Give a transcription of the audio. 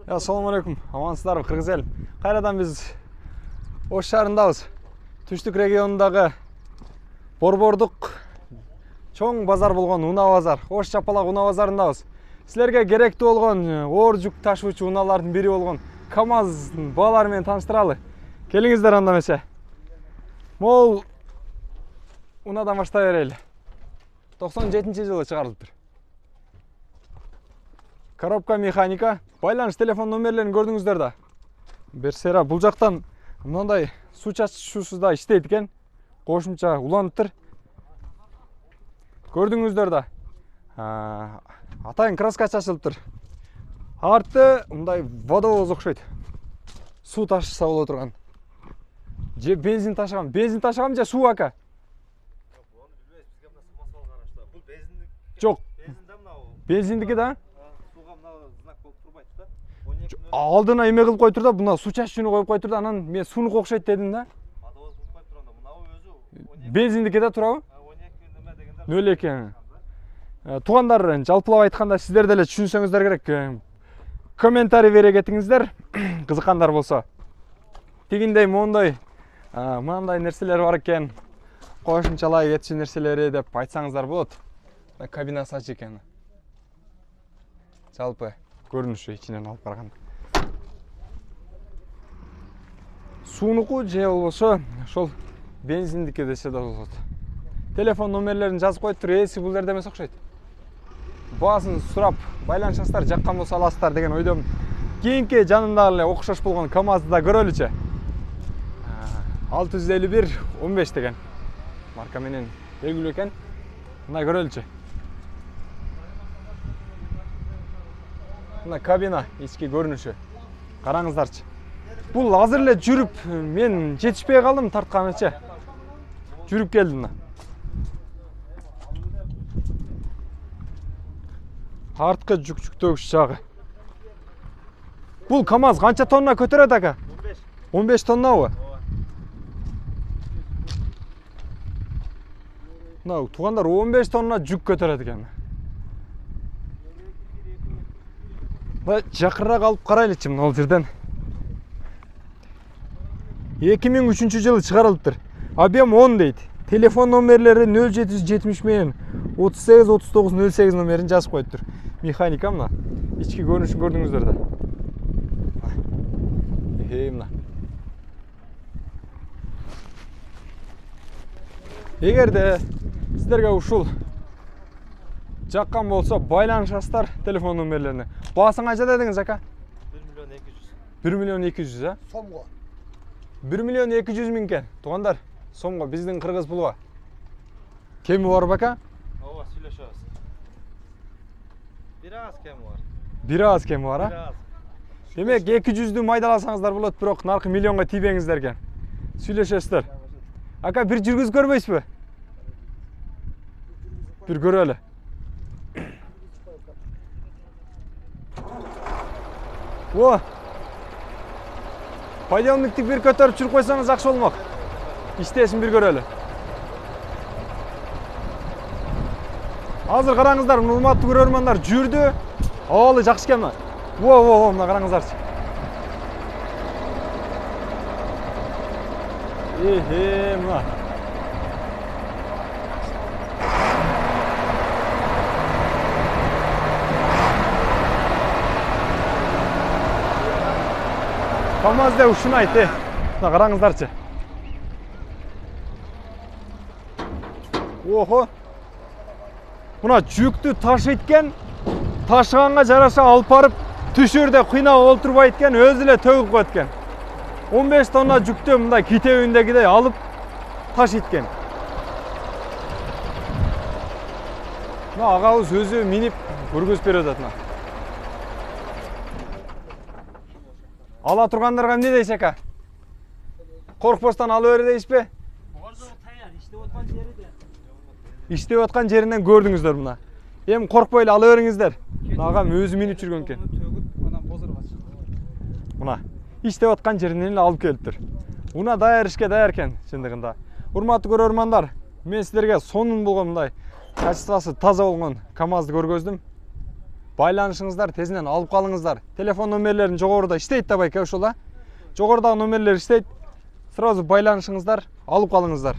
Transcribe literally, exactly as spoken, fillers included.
Assalamu alaikum. Amansыздарбы, кыргыз эл. Кайрадан биз Ош шаарындабыз. Түштүк регионундагы Борбордук чоң базар болгон Уна базар, Ош Чапалак Уна базарындабыз. Силерге керектүү болгон оор жүк ташуучу унаалардын бири болгон КамАЗдын баалары менен тааныштыралы. Келиңиздер анда эмесе. Могул унадан баштай берели. токсон жетинчи жылы чыгарылыптыр. Коробка механика, байланыш телефон номерлерин көрдүңүздөр да. Берсера бул жактан мындай суу чачуусу да иштейт экен. Кошумча уланыптыр. Көрдүңүздөр да. Атайын краска чачылыптыр. Арты мындай водовоз окшойт. Суу ташыса боло турган. Же бензин ташыган, бензин ташыган же суу ака? Жок. Бензиндики да? Алдына эме кылып койтур да, буна суу чачуучуну коюп койтур да, анан мен сууну окшойт дедим да. Бензиндики да турабы? нөл эки. Туугандар, жалпылап айтканда сиздер деле түшүнсөңүздөр керек. Комментарий бере кетиңиздер, кызыккандар болсо. Тигиндей, моундай, мындай нерселер бар экен. Кошумчалай кетчү нерселери деп айтсаңыздар болот. Кабинасы ачык экен. Жалпы көрүнүшү ичинен алып караганда. Суунуку же болбосо ошол бензиндики десе да болот. Телефон номерлерин жазып коюптур, ээси бул жерде эмес окшойт. Баасын сурап, байланышасыздар, жаккан болсо аласыздар деген ойдомун. Кийинки жанында эле окшош болгон КамАЗды да көрөлүчү. алты жүз элүү бир он беш деген марка менен белгилүү экен. Мына көрөлүчү. Мына кабина, ички көрүнүшү. Караңыздарчы. Бул азыр эле жүрүп, мен жетишпей калдым тартканычы. Жүрүп келдим мына. Арткы жүк жүктөгүч жагы. Бул КамАЗ канча тонна көтөрөт ака? он беш. он беш тоннабы? Мына туугандар он беш тонна жүк көтөрөт экен. Ба жакырраак алып карайлычы мына бул жерден. эки миң үчүнчү жылы чыгарылыптыр. Объем он дейт. Телефон номерлери нөл жети жүз жетимиш менен отуз сегиз отуз тогуз нөл сегиз номерин жазып коюптур. Механика мына. Ички көрүнүшүн көрдүңүздөр да. Э, мына. Эгерде сиздерге ушул жаккан болсо байланышасыздар телефон номерлерине. Баасын канча дедиңиз ака? бир миллион эки жүз. бир миллион эки жүз, а? Сомго. бир миллион эки жүз миң кен. Туугандар, сомго биздин кыргыз пулга. Кеми бар бака? Ооба, сүйлөшөбүз. Бир аз кеми бар. Бир аз кеми бар, а? Демек эки жүздү майдаласаңыздар болот, бирок наркы миллионго тийбеңиздер экен. Сүйлөшөсүздөр. Ака, бир жүргүзүп көрбөйсүзбү? Бир көрөлү. О! Подъемниктик бир көтөрүп жүрүп койсоңуз жакшы болмок. Иштесин бир көрөлү. Азыр караңыздар, урматтуу көрөрмандар, жүрдү. Абалы жакшы экен мына. Во, во, во, мына караңыздарчы. Эхе, мына. КамАЗда ушуну айт, э. Мына караңыздарчы. Охо. Мына жүктү ташыйт экен. Ташыганга жараша алып барып, түшүрдө кыйнап олтурбайт экен, өзү эле төгүп коет экен. он беш тонна жүктү мындай китебиндегидей алып ташыйт экен. Мына агабыз өзү минип көргөзүп берип атат мына. Ала тургандарга эмне дейсиз ака? Коркпостон ала бери дейсизби? Бордо таяр, иштеп аткан жерде. Иштеп аткан жеринен көрдүңүздөр мына. Эми коркпой эле ала бериңиздер. Агам өзү минип жүргөн экен. Мына, иштеп аткан жеринен эле алып келиптир. Уна даяр ишке даяр экен чындыгында. Урматтуу көрөрмандар, мен сиздерге сонун болгон мындай качествосы таза болгон КамАЗды көргөздүм. байланышыңыздар, тезинен алып калыңыздар. Телефон номерлерин жогоруда иштейт да байке ошол а. Жогорудагы номерлер иштейт. Сразу байланышыңыздар, алып калыңыздар.